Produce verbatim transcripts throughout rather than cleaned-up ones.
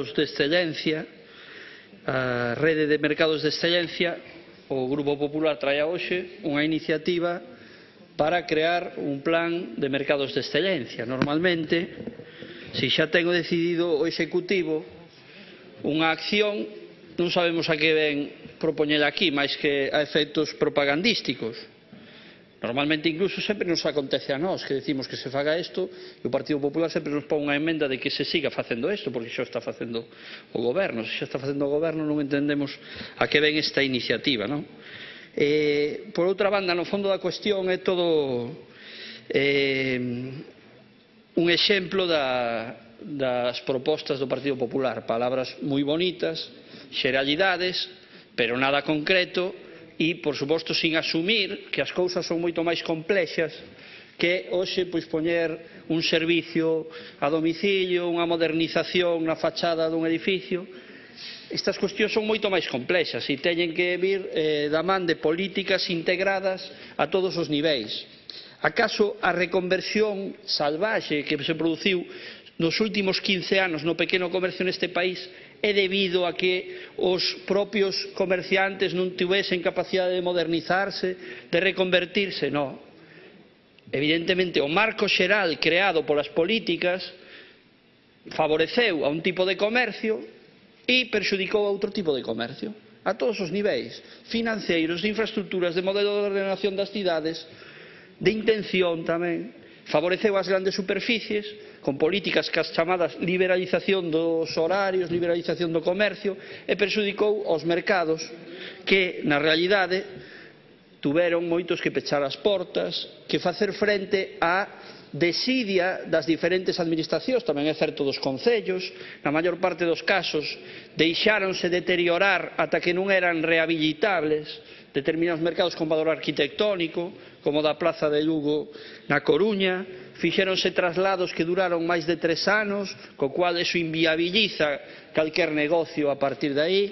de excelencia, a rede de mercados de excelencia, o Grupo Popular trae a hoxe unha iniciativa para crear un plan de mercados de excelencia. Normalmente, se xa ten decidido o Executivo unha acción, non sabemos a que ven propoñela aquí, máis que a efectos propagandísticos. Normalmente incluso sempre nos acontece a nós que decimos que se faga isto e o Partido Popular sempre nos pon unha emenda de que se siga facendo isto porque xa está facendo o Goberno. Se xa está facendo o Goberno non entendemos a que ven esta iniciativa, non? Eh, por outra banda, no fondo da cuestión é todo eh, un exemplo da, das propostas do Partido Popular. Palabras moi bonitas, xeralidades, pero nada concreto. E, por suposto, sin asumir que as cousas son moito máis complexas que hoxe pois poñer un servicio a domicilio, unha modernización na fachada dun edificio. Estas cuestións son moito máis complexas e teñen que vir eh, da man de políticas integradas a todos os niveis. Acaso a reconversión salvaxe que se produciu nos últimos quince anos no pequeno comercio neste país é debido a que os propios comerciantes non tivesen capacidade de modernizarse, de reconvertirse? Non. Evidentemente, o marco xeral creado polas políticas favoreceu a un tipo de comercio e perxudicou a outro tipo de comercio, a todos os niveis, financeiros, de infraestructuras, de modelo de ordenación das cidades, de intención tamén. Favoreceu as grandes superficies con políticas que as chamadas liberalización dos horarios, liberalización do comercio, e perxudicou aos mercados que, na realidade, tuveron moitos que pechar as portas, que facer frente á desidia das diferentes administracións, tamén é certo dos concellos. Na maior parte dos casos deixáronse deteriorar ata que non eran rehabilitables determinados mercados con valor arquitectónico, como da Plaza de Lugo na Coruña. Fixéronse traslados que duraron máis de tres anos, co cual eso inviabiliza calquer negocio a partir de aí.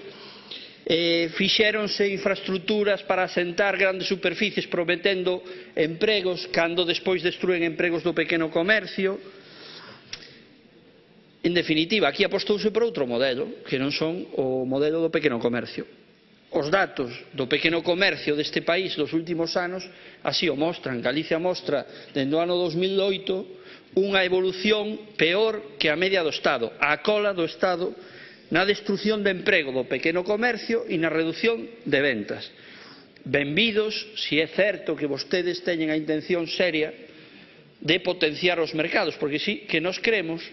Eh, fixéronse infraestructuras para asentar grandes superficies prometendo empregos cando despois destruen empregos do pequeno comercio. En definitiva, aquí apostouse por outro modelo, que non son o modelo do pequeno comercio. Os datos do pequeno comercio deste país dos últimos anos así o mostran. Galicia mostra, dende o ano dos mil oito, unha evolución peor que a media do Estado, a cola do Estado na destrucción de emprego do pequeno comercio e na reducción de ventas. Benvidos, se é certo que vostedes teñen a intención seria de potenciar os mercados, porque sí que nos creemos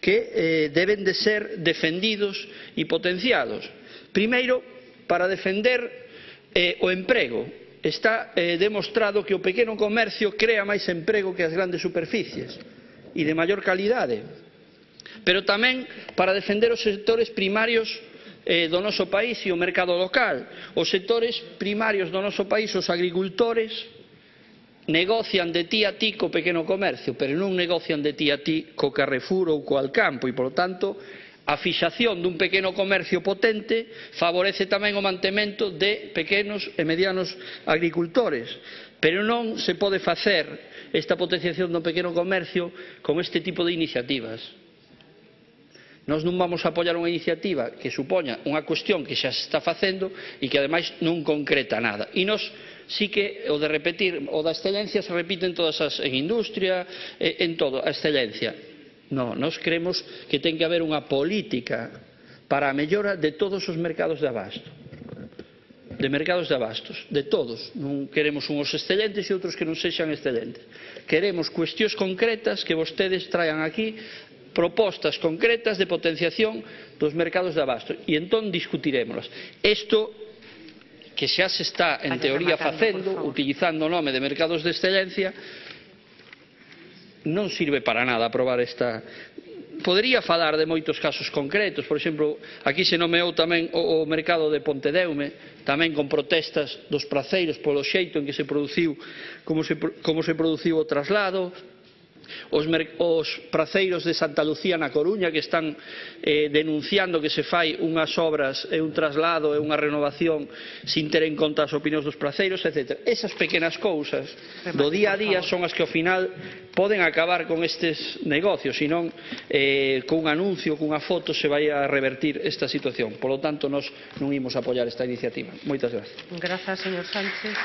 que eh, deben de ser defendidos e potenciados. Primeiro, para defender eh, o emprego. Está eh, demostrado que o pequeno comercio crea máis emprego que as grandes superficies e de maior calidade. Pero tamén para defender os sectores primarios eh, do noso país e o mercado local. Os sectores primarios do noso país, os agricultores, negocian de ti a ti co pequeno comercio, pero non negocian de ti a ti co Carrefour ou co Alcampo, e, polo tanto, a fixación dun pequeno comercio potente favorece tamén o mantemento de pequenos e medianos agricultores. Pero non se pode facer esta potenciación do pequeno comercio con este tipo de iniciativas. Nós non vamos a apoiar unha iniciativa que supoña unha cuestión que xa se está facendo e que ademais non concreta nada. E nós sí que o de repetir, o da excelencia se repite en todas as, en industria, en todo, a excelencia. Non, nós creemos que ten que haber unha política para a mellora de todos os mercados de abasto. De mercados de abastos, de todos. Non queremos uns excelentes e outros que non sexan excelentes. Queremos cuestións concretas que vostedes traian aquí, propostas concretas de potenciación dos mercados de abasto. E entón discutiremoslas. Isto que xa se está en teoría facendo, utilizando o nome de mercados de excelencia, non sirve para nada aprobar esta. Podería falar de moitos casos concretos. Por exemplo, aquí se nomeou tamén o, o mercado de Pontedeume, tamén con protestas dos praceiros polo xeito en que se produciu, como se, como se produciu o traslado. Os, os praceiros de Santa Lucía na Coruña que están eh, denunciando que se fai unhas obras e un traslado e unha renovación sin ter en conta as opinións dos praceiros, etcétera. Esas pequenas cousas do día a día son as que ao final poden acabar con estes negocios, senón eh, con un anuncio, cunha foto se vai a revertir esta situación. Por lo tanto, nós non imos apoiar esta iniciativa. Moitas gracias. Grazas, señor Sánchez.